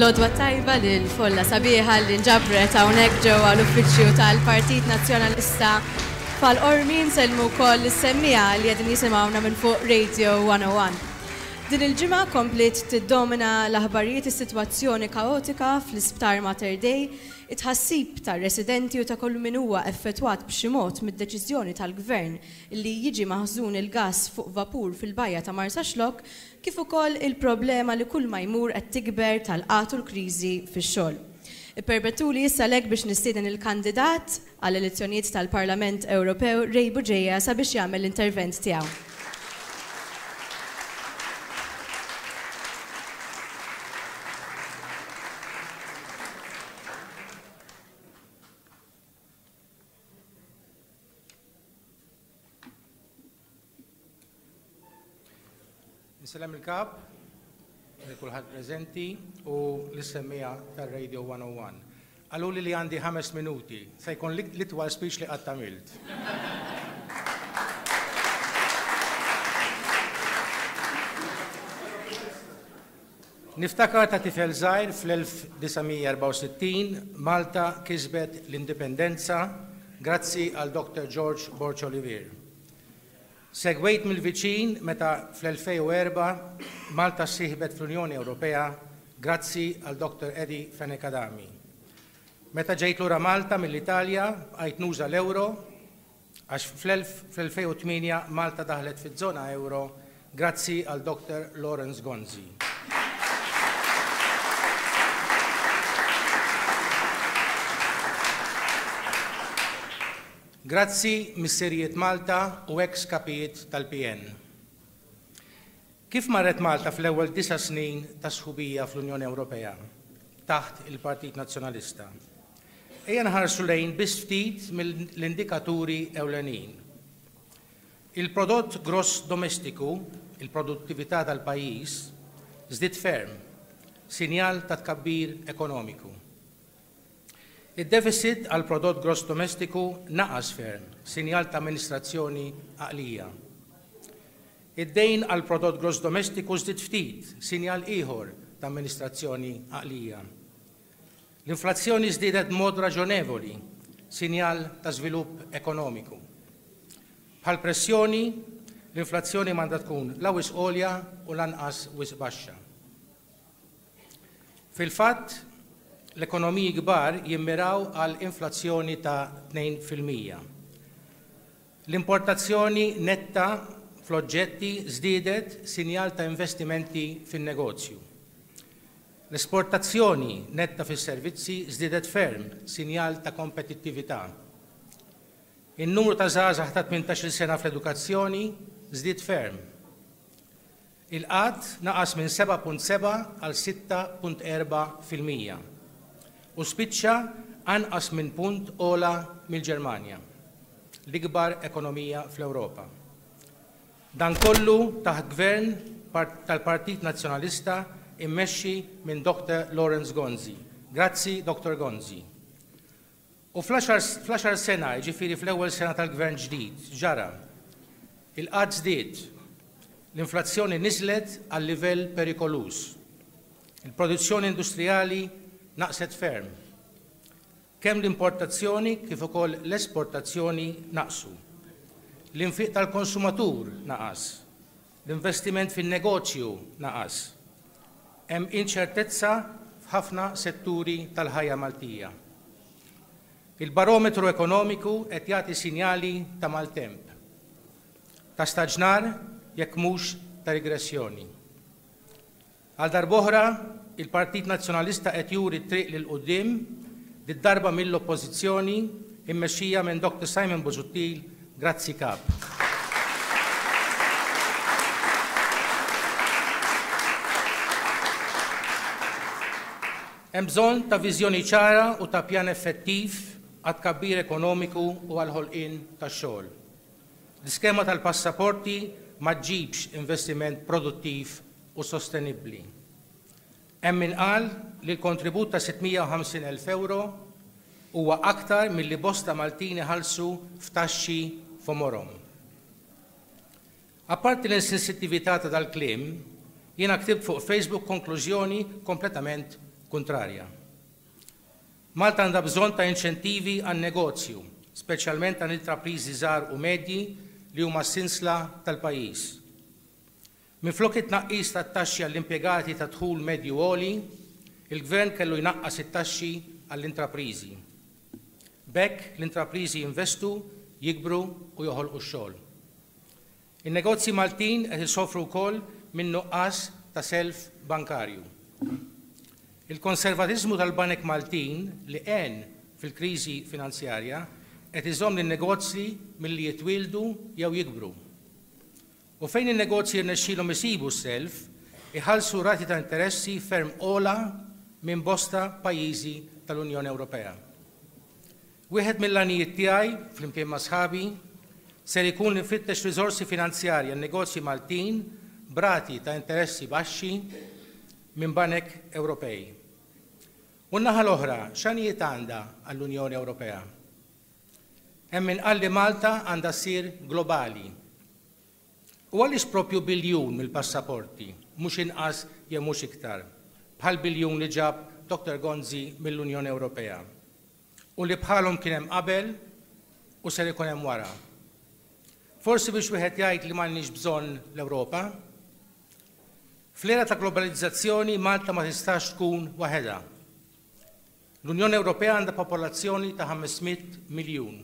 L-għodwa t-tajba lill-folla sabiħa li nġabret hawnhekk ġewwa l-uffiċċju tal-Partit Nazzjonalista f'Ħal Qormi. Nsellmu wkoll lis-semmiegħa li qegħdin jisimgħuna minn fuq Radio 101. Din il-ġimgħa kompliet tiddomina l-aħbarijiet is-sitwazzjoni kaotika fl-Isptar Mater Dei, it-tħassib tar-residenti u ta' kull min huwa effettwat b'xi mod mid-deċiżjoni tal-Gvern li jiġi maħżun il-gass fuq vapur fil-bajja ta' Marsaxlokk kif ukoll il-problema li kulma jmur qed tikber tal-qgħad u l-kriżi fix-xogħol. Ippermettuli issa għalhekk biex nistieden il-kandidat għall-elezzjonijiet tal-Parlament Ewropew Ray Bugeja sabiex jagħmel l-intervent tiegħu. Insellem il-Kap, lil kulħadd preżenti u lis-semmiegħa tar-Radio 101. Qaluli li għandi ħames minuti, se jkun l-itwal speech li qatt għamilt. Niftakar ta' tifel żgħir fl-1964 Malta kisbet l-Indipendenza grazzi għal Dr. George Borg Olivier. Segwejt mill-viċin meta fl-2004 Malta ssieħbet fl-Unjoni Ewropea grazzi għal Dr. Eddie Fenech Adami. Meta ġejt lura Malta mill-Italja bqajt nuża l-ewro għax fl-2008 Malta daħlet fiż-żona ewro grazzi għal Dr. Lawrence Gonzi. Grazzi Missirijiet Malta u eks Kapijiet tal-PN. Kif marret Malta fl-ewwel disa' snin ta' sħubija fl-Unjoni Ewropea taħt il-Partit Nazzjonalista? Ejja nħarsu lejn biss ftit mill-indikaturi ewlenin. Il-prodott gross domestiku, il-produttività tal-pajjiż, żdied ferm, sinjal ta' tkabbir ekonomiku. Id-deficit għall-prodott gross domestiku naqas ferm, sinjal ta' amministrazzjoni għaqlija. Id-dejn għall-prodott gross domestiku żdied ftit, sinjal ieħor ta' amministrazzjoni għaqlija. L-inflazzjoni żdiedet b'mod raġonevoli, sinjal ta' żvilupp ekonomiku. Bħall-pressjoni, l-inflazzjoni m'għandha tkun la wisq għolja u lanqas wisq baxxa. Fil-fatt, l-ekonomiji kbar jimmiraw għal inflazzjoni ta' 2%. L-importazzjoni netta fl-oġġetti żdiedet sinjal ta' investimenti fin-negozju. L-esportazzjoni netta fis-servizzi żdiedet ferm, sinjal ta' kompetittività. In-numru ta' żgħażagħ ta' tmintax-il sena fl-edukazzjoni żdied ferm. Il-qgħad naqas minn 7.7 għal 6.4% u spiċċa anqas minn punt ogħla mill-Ġermanja, l-ikbar ekonomija fl-Ewropa. Dan kollu taħt Gvern tal-Partit Nazzjonalista immexxi minn Dr Lawrence Gonzi. Grazzi Dr Gonzi. U fl-għaxar sena, jiġifieri fl-ewwel sena tal-Gvern ġdid, x'ġara? Il-qgħad żdied. L-inflazzjoni niżlet għal livell perikoluż. Il-produzzjoni industrijali naqset ferm. Kemm l-importazzjoni kif ukoll l-esportazzjoni naqsu. L-infiq tal-konsumatur naqas. L-investiment fin-negozju naqas. Hemm inċertezza f'ħafna setturi tal-ħajja Maltija. Il-barometru ekonomiku qed jagħti sinjali ta' maltemp, ta' staġnar jekk mhux ta' rigressjoni. Għal darb'oħra, il-Partit Nazzjonalista qed juri t-triq 'l quddiem, did-darba mill-Oppożizzjoni, immexxija minn Dr Simon Busuttil, grazzi Kap. Hemm bżonn ta' viżjoni ċara u ta' pjan effettiv għat-tkabbir ekonomiku u għall-ħolqien tax-xogħol. L-iskema tal-passaporti ma ġġibx investiment produttiv u sostenibbli. Hemm min qal li l-kontribut ta' 650,000 ewro huwa aktar milli bosta Maltin iħallsu f'taxxi f'għomorhom. Apparti l-insensittività ta' dal-kliem, jiena ktibt fuq Facebook konklużjoni kompletament kuntrarja. Malta għandha bżonn ta' inċentivi għan-negozju, speċjalment għall-intrapriżi żgħar u medji li huma s-sinsla tal-pajjiż. Minflok it-tnaqqis tat-taxxi għall-impjegati ta' dħul medju għoli, il-Gvern kellu jnaqqas it-taxxi għall-intrapriżi. B'hekk l-intrapriżi jinvestu, jikbru u joħolqu x-xogħol. In-negozji Maltin qed isofru wkoll minn nuqqas ta' self bankarju. Il-konservatiżmu tal-banek Maltin li għen fil-kriżi finanzjarja qed iżomm lin-negozji milli jitwieldu jew jikbru. U fejn in-negozji jirnexxilhom isibu s-self, iħallsu rati ta' interessi ferm ogħla minn bosta pajjiżi tal-Unjoni Ewropea. Wieħed mill-għanijiet tiegħi, flimkien ma' sħabi, ser ikun li nfittex riżorsi finanzjarji għan-negozji Maltin b'rati ta' interessi baxxi minn banek Ewropej. U n-naħa l-oħra, x'għanijiet għandha għall-Unjoni Ewropea? Hemm min qal li Malta għandha ssir globali. U għaliex proprju biljun mill-passaporti, mhux inqas jew mhux iktar, bħall-biljun li ġab Doctor Gonzi mill-Unjoni Ewropea? U li bħalhom kien hemm qabel u ser ikun hemm wara. Forsi biex wieħed jgħid li m'għandniex bżonn l-Ewropa? Fl-era ta' globalizzazzjoni Malta ma tistax tkun waħedha. L-Unjoni Ewropea għandha popolazzjoni ta' 500 miljun.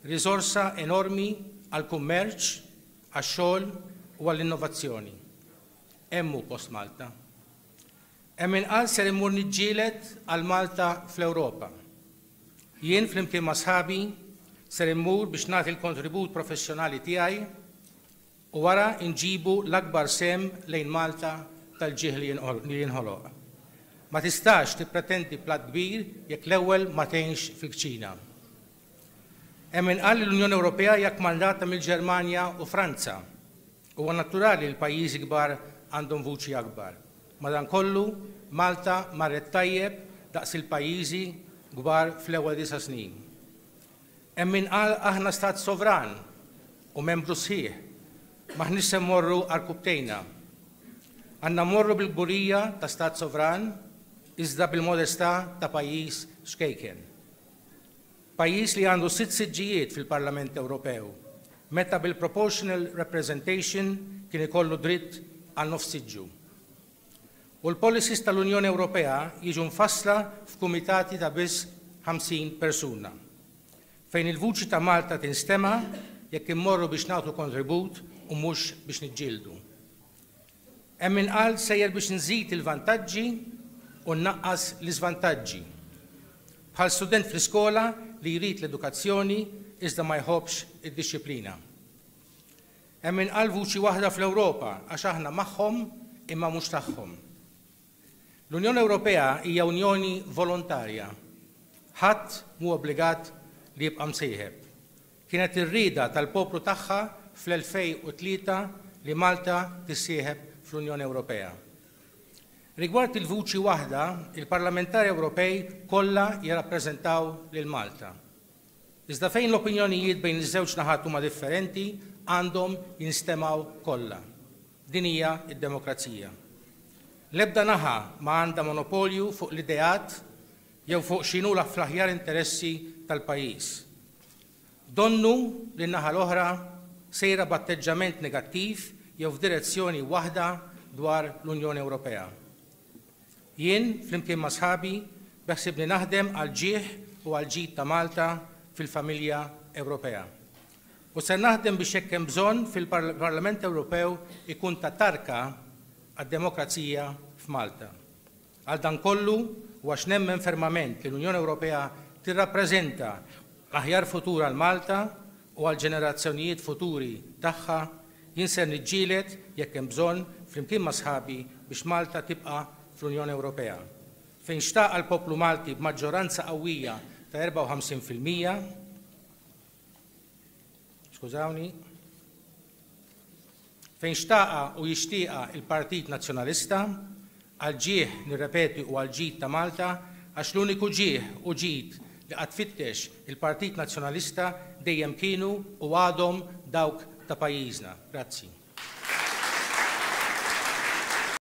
Riżorsa enormi għall-kummerċ, għax-xogħol u għall-innovazzjoni. Hemm hu post Malta. Hemm min qal ser immur niġġieled għal Malta fl-Ewropa. Jien flimkien ma' sħabi ser immur biex nagħti l-kontribut professjonali tiegħi u wara nġibu l-akbar sehem lejn Malta tal-ġieħ li jinħoloq. Ma tistax tippretendi platt kbir jekk l-ewwel ma tgħinx fil-kċina. Hemm min qal li l-Unjoni Ewropea hija kmandata mill-Ġermanja u Franza. Huwa naturali li l-pajjiżi kbar għandhom vuċi akbar. Madankollu, Malta marret tajjeb daqs il-pajjiżi kbar fl-ewwel disa' snin. Hemm min qal aħna stat sovran u membru sħiħ, m'aħniex se mmorru għarkupptejna. Għandna mmorru bil-kburija ta' stat sovran iżda bil-modestà ta' pajjiż ċkejken. Pajjiż li għandu sitt siġġijiet fil-Parlament Ewropew, meta bil-proportional representation kien ikollu dritt għal nofs siġġu. U l-policies tal-Unjoni Ewropea jiġu mfassla f'kumitati ta' biss 50 persuna. Fejn il-vuċi ta' Malta tinstema' jekk immorru biex nagħtu kontribut u mhux biex niġġieldu. Hemm min qal sejjer biex nżid il-vantaġġi u nnaqqas l-iżvantaġġi. Bħal student fl-iskola li jrid l-edukazzjoni iżda ma jħobbx id-dixxiplina. Hemm min qal vuċi waħda fl-Ewropa għax aħna magħhom imma mhux tagħhom. L-Unjoni Ewropea hija unjoni volontarja. Ħadd mhu obbligat li jibqa' msieħeb. Kienet ir-rieda tal-poplu tagħha fl-2003 li Malta tissieħeb fl-Unjoni Ewropea. Rigward il-vuċi waħda, il-parlamentari Ewropej kollha jirrappreżentaw lil Malta. Iżda fejn l-opinjonijiet bejn iż-żewġ naħat huma differenti, għandhom jinstemgħu kollha. Din hija d-demokrazija. L-ebda naħa ma għandha monopolju fuq l-ideat jew fuq x'inhu fl-aħjar interessi tal-pajjiż. Donnu li n-naħa l-oħra sejra b'atteġġament negattiv jew f'direzzjoni waħda dwar l-Unjoni Ewropea. Jien, flimkien ma' sħabi, beħsiebni naħdem għall-ġieħ u għall-ġid ta' Malta fil-familja Ewropea. U ser naħdem biex jekk hemm bżonn fil-Parlament Ewropew ikun ta' tarka għad-demokrazija f'Malta. Għal dan kollu, u għax nemmen fermament li l-Unjoni Ewropea tirrappreżenta l-aħjar futur għal Malta u għall-ġenerazzjonijiet futuri tagħha, jien ser niġġieled, jekk hemm bżonn, flimkien ma' sħabi biex Malta tibqa' fl-Unjoni Ewropea. Fejn xtaqha l-poplu Malti b'maġġoranza qawwija ta' 54%, skużawni, Fejn xtaqha u jixtieqha il-Partit Nazzjonalista, għall-ġieħ, nirrepeti u għall-ġid ta' Malta, għax l-uniku ġieħ u ġid li qatt fittex il-Partit Nazzjonalista dejjem kienu u għadhom dawk ta' pajjiżna. Grazzi.